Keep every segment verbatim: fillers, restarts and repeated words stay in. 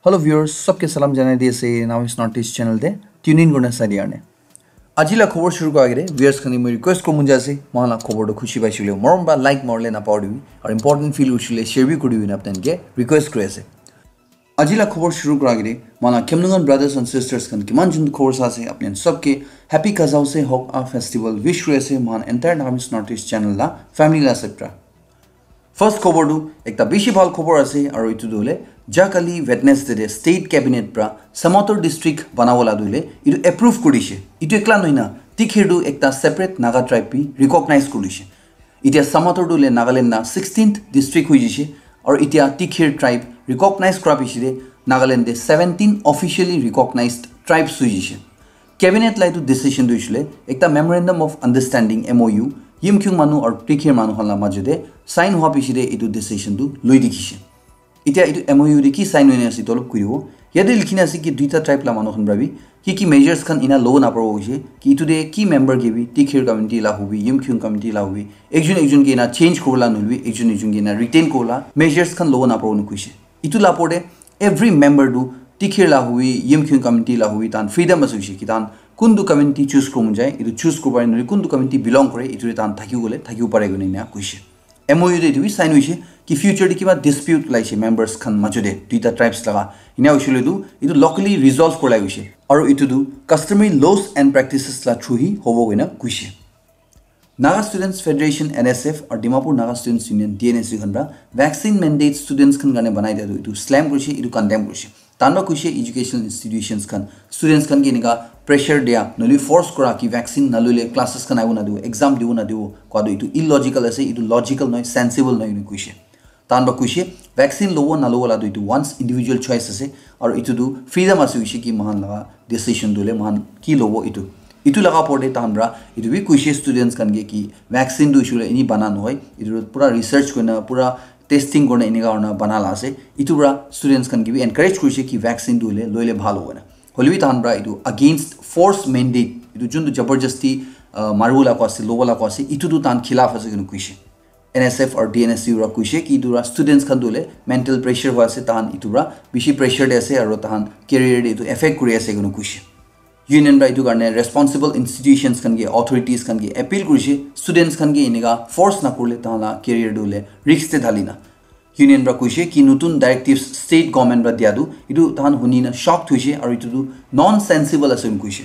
Hello viewers, sabke salam janai di ase Naomi's Northeast channel te tune in kurna sai di karne. Aji la khobor shuru kora agete viewers khan ke moi request koribo mon jai ase, moikhan la khobor toh khushi paise koile morom para like marile napahoribi, aru important feel hoise koile share bi koribi koina apni khan ke request kuri ase. Aji la khobor shuru kora agete moikhan la Khemlungan brothers and sisters khan kiman jun khobor sa ase, apni khan sabke happy Kazaose Hok A festival wish kuri ase moikhan entire Naomi's Northeast channel la family la side para. First khobor tu ekta bishi bhal khobor ase, aru etu tu hoile ja kali Wednesday te state cabinet para Samator district banabo la tu hoile etu approve kuri dishe. Etu ekla nohoi na Tikhir tu ekta separate Naga tribe bi recognize kuri dishe. Itya Samator tu hoile Nagaland la sixteenth district hoi jishe, aru itya Tikhir tribe recognize kura piche te Nagaland te seventeen officially recognized tribes hoi jishe. Cabinet la etu decision tu hoishe koile ekta memorandum of understanding, M O U, Yimkhiung manu aru Tikhir manu khan la majo te sign hua piche te etu decision tu loi dikhishe. Itya etu M O U te ki sign hoina ase etu olop kuribo. Yate likhina ase ki duita tribe la manu khan para bi ki ki measures khan ena lobo naparibo koishe, ki etu te ki member ke bi Tikhir community la hobi, Yimkhiung community la hobi, ekjon ekjon ke ena change kuribo la nohoilebi ekjon ekjon ke ena retain kuribo la measures khan lobo naparibo koishe. Etu la opor te every member tu Tikhir la hobi, Yimkhiung community la hobi, tahan freedom ase hoishe ki tahan kuntu community choose kuribo mon jai, etu choose kuribo pare, nohoile kuntu community belong kore, etu te tahan thakibo koile thakibo pare koina ena koishe. M O U te etu bi sign hoishe ki future te kiba dispute olaishe members khan majo te duita tribes laga, ena hoishe koile tu etu locally resolve kuri la hoishe, aru etu tu customary laws and practices la through hi hobo koina koishe. Naga Students Federation, N S F, aru Dimapur Naga Students Union, D N S U khan para vaccine mandate students khan karne banai dia tu etu slam kurishe, etu condemn kurishe. Tahan para kuishe educational institutions khan students khan ke enika pressure dia, nohoile force kura ki vaccine naloile classes khan ahibo nadibo, exam dibo nadibo koa tu etu illogical ase, etu logical nohoi, sensible nohoi ena kuishe. Tahan para kuishe vaccine lobo nalobo la tu etu one's individual choice ase, aru etu tu freedom ase hoishe ki moikhan laga decision tu hoile moikhan ki lobo etu. Etu laga opor te tahan para etu bi kuishe students khan ke ki vaccine tu hoishe koile eni bana nohoi, etu tu pura research kurina, pura testing kurina enika kurina bana la ase. Etu para students khan ke bi encourage kurishe ki vaccine tu hoile loile bhal hobo koina. Hoilebi tahan para etu against force mandate, etu jun tu jabardasti, ah, maribo la koa ase, lobo la koa ase, etu tu tahan khilaf ase koina kuishe. N S F aru D N S U para kuishe ki etu para students khan tu hoile mental pressure hoi ase, tahan etu para bishi pressure te ase aru tahan career te etu affect kuri ase koina kuishe. Union para etu karne responsible institutions khan ke, authorities khan ke appeal kurishe, students khan ke enika force nakurile tahan la career tu hoile risk te dhalina. Union para kuishe ki notun directives state government para dia tu etu tahan huni na shocked hoishe aru etu tu nonsensible ase koina kuishe.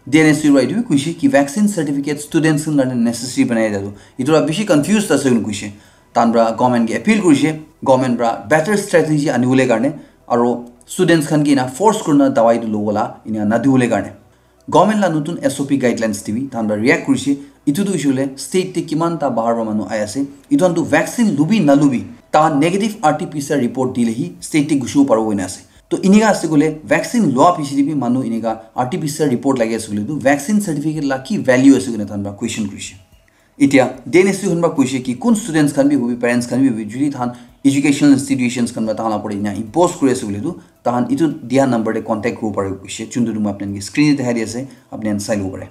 D N S U para etu bi kuishe ki vaccine certificate students khan karne necessary banai dia tu etu para bishi confused ase koina kuishe. Tahan para government ke appeal kurishe, government para better strategy anibole karne aru students khan ke ena force kurina dawai tu lobo la ena nadibole karne. Government la notun S O P guidelines te bi tahan para react kurishe. Etu tu hoishe koile state te kiman ta bahar para manu ahi ase, etu khan tu vaccine lobi nalobi tahan negative R T P C R report dile hi state te gushibo paribo koina ase. To enika ase koile vaccine loa piche te bi manu enika R T P C R report lagi ase koile tu vaccine certificate la ki value ase koina tahan para question kurishe. Itya D N S U khan para kuishe ki kun students khan bi hobi, parents khan bi hobi, jodi tahan educational institutions khan para tahan la opor te ena impose kuri ase koile tu tahan etu dia number te contact kuribo pare kuishe, juntu tu moi apni khan ke screen te dikhai di ase, apni khan sai lobo pare.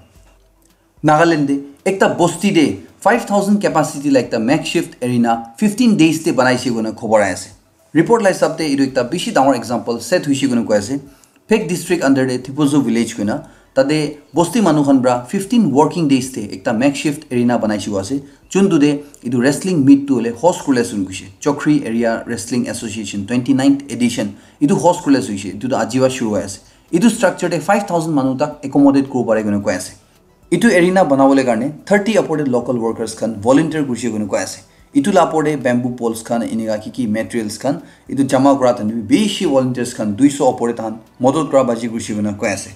Nagaland te ekta bosti te five thousand capacity la ekta makeshift arena fifteen days te banaishe koina khobor ahi ase. Report la hisab te etu ekta bishi dangor example set hoishe koina koi ase. Phek district under te Thipozo village koina tate bosti manu khan para fifteen working days te ekta makeshift arena banaishe koa ase. Juntu te etu wrestling meet tu hoile host kurile ase koina kuishe. Chokri Area Wrestling Association twenty ninth edition etu host kurile ase koishe. Etu tu aji para shuru hoi ase. Etu structure te five thousand manu tak accommodate kuribo pare koina koi ase. Etu arena banabole karne thirty upor te local workers khan volunteer kurishe koina koi ase. Etu la opor te bamboo poles khan enika ki ki materials khan etu jama kura time te bi bishi volunteers khan dui so upor te tahan modot kura baji kurishe koina koi ase.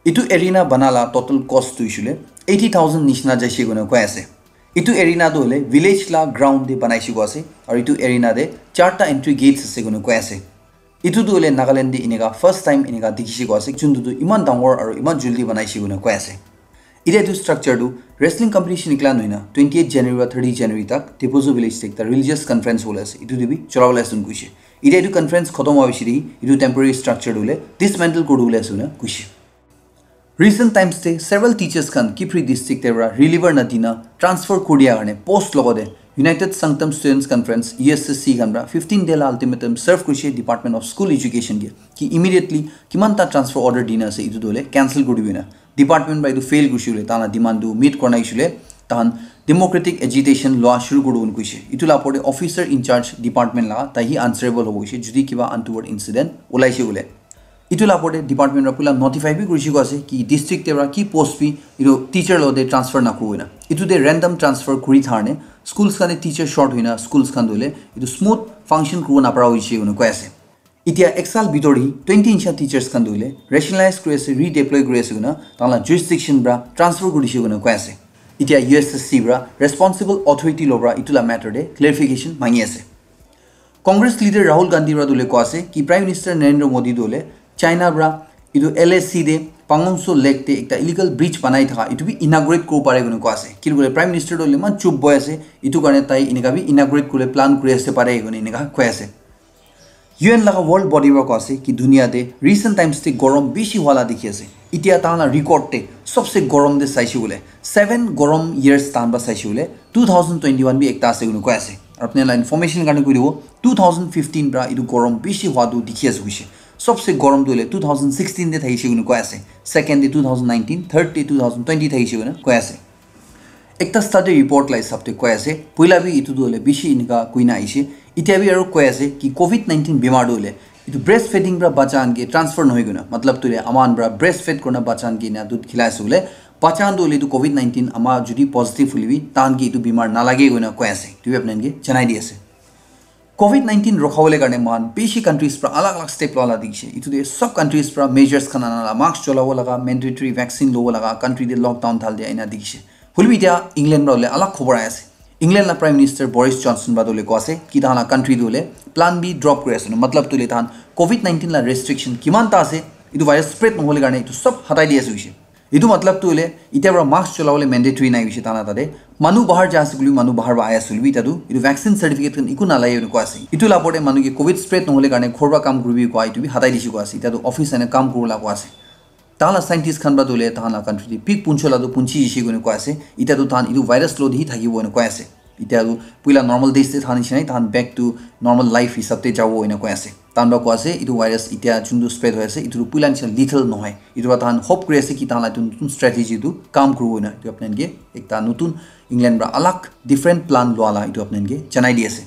Etu arena bana la total cost tu hoishe koile eighty thousand nishina jaishe koina koi ase. Etu arena tu hoile village la ground te banaishe koa ase aru etu arena te charta entry gates ase koina koi ase. Etu tu hoile Nagaland te enika first time enika dikhishe koa ase, juntu tu iman dangor aru iman jaldi banaishe koina koi ase. Itya etu structure tu wrestling competition ekla nohoi na twenty eight January para thirty January tak Thipozo village te ekta religious conference hobole ase, etu te bi cholabole ase koina kuishe. Itya etu conference khotom howa piche te etu temporary structure tu hoile dismantle kuri dibole ase koina kuishe. Recent times te several teachers khan Kiphire district te para reliever nadina transfer kuri dia karne post logote United Sangtam Students Conference, U S S C khan pra fifteen day la ultimatum serve kurishe Department of School Education ke, ki immediately kiman ta transfer order dina ase itu dole cancel kuri dibina. Department pra itu fail kurishe bole, tahan la demand tu meet kurna ise bole, tahan democratic agitation loa shuru kuri dibole kuishe. Itu la opor te officer in charge department la, tai hi answerable hobo kuishe jodi kiba untoward incident ulaishe bole. Itu la opor te department pra pula notify bi kurishe koa ase ki district te pra ki post bi itu teacher lo te transfer na kurina. Itu te random transfer kuri tharne schools khan te teacher short hoina schools khan dole itu smooth function kuribo napara hoishe koina koi ase. Itia ek saal bitor hi twenty nisha teachers khan dole rationalize kuri ase, redeploy kuri ase koina tahan la jurisdiction pra transfer kurishe koina koi ase. Itia U S S C pra responsible authority lo pra itu la matter te clarification mangi ase. Congress leader Rahul Gandhi pra dole koa ase ki Prime Minister Narendra Modi dole China pra itu L A C te Pangongso Lake te ekta illegal bridge banai thaka itu bi inaugurate kuri pare koina koa ase. Kitu kore Prime Minister dole iman chup boi ase, itu karne tai inika bi inaugurate kure plan kuri ase pare koina inika koi ase. U N laga world body pra koa ase ki dunia te recent times te gorom bishi hua la dikhi ase. Itia tahan la record te sobse gorom te saishe bole seven gorom years tahan pra saishe bole two thousand twenty-one bi ekta ase koina koi ase. Aru apni la information karne koi dibo, two thousand fifteen pra itu gorom bishi hua tu dikhi ase kuishe. Sobse gorom tu hoile two thousand sixteen te thakishe koina koi ase. Second te two thousand nineteen, third te two thousand twenty thakishe koina koi ase. Ekta study report la hisab te koi ase, puila bi itu tu hoile bishi inika koina aishe. Itia bi aru koi ase ki covid nineteen bimar tu hoile itu breastfeeding pra bacha khan ke transfer nohoi koina, matlab tu hoile ama khan pra breastfeed kurina bacha khan ke ena dudh khilai ase bole, bacha khan tu hoile itu covid nineteen ama jodi positive hoile bi tahan ke itu bimar nalage koina koi ase. Itu bi apni khan ke janai di ase. Covid nineteen rokhabole karne mohan bishi countries pra alag alag step loa la dikhishe. Itu te sob countries pra measures khan ana la, mask cholabo laga, mandatory vaccine lobo laga, country te lockdown dhal dia ena dikhishe. Hoilebi itia England pra hole alag khobor ahi ase. England la Prime Minister Boris Johnson pra tu hole koa ase ki tahan la country tu hole plan B drop kuri ase. Matlab tu hole tahan covid nineteen la restriction kiman ta ase, itu virus spread nohole karne itu sob hatai di ase hoishe. Itu matlab tu hoile itia pra mask cholabole mandatory nai hoishe tahan la tate. Manu bahar ja ase koile bi, manu bahar pra ahi ase koile bi, etia tu itu vaccine certificate khan eku nalage koina koa ase. Itu la opor te manu ke covid spread nohole karne ghor pra kam kuribi koa itu bi hatai dishe koa ase. Etia tu office aina kam kuribole koa ase. Tahan la scientist khan pra tu hoile tahan la country te peak puncho la tu punchi jishe koina koa ase. Etia tu tahan itu virus lo di thakibo koina koi ase. Etia tu puila normal days te thakan nishina tahan back to normal life hisab te jabo ena koi ase. Tahan pra koi ase itu virus itia juntu spread hoi ase itu tu puila nishina lethal nohoi. Itu pra tahan hope kuri ase ki tahan la itu nutun strategy tu kam kuribo ena. Itu apni khan ke ekta nutun England pra alag different plan loa la itu apni khan ke janai di ase.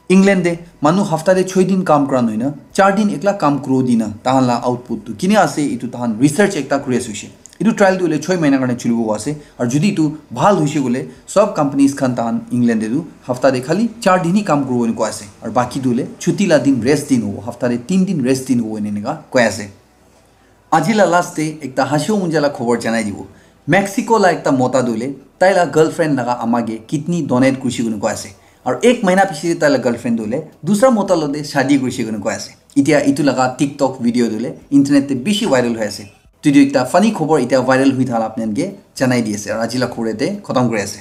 England te manu hafta te choi din kam kura nohina char din ekla kam kuro dina tahan la output tu kini ase itu tahan research ekta kuri ase hoishe. Itu trial tu hoile choi mahina karne chulibo ase. Aru jodi itu bhal hoishe koile sob companies khan tahan England te tu hafta te khali char din hi kam kuribo ena koi ase. Aru baki tu hoile chuti la din rest din hobo. Hafta te tin din rest din hobo ena eneka koi ase. Aji la last te ekta hashibo monja la khobor janai dibo. Mexico la ekta mota tu hoile tai la girlfriend laga ama ke kidney donate kurishe koina koi ase. Aru ek mahina piche te tai la girlfriend tu hoile dusra mota lo te shadi kurishe koina koi ase. Itia itu laga TikTok video tu hoile internet te bishi viral hoi ase. Itu ekta funny khobor itia viral hui thala apni khan ke janai di ase. Aru aji la khobor ete khotom kuri ase.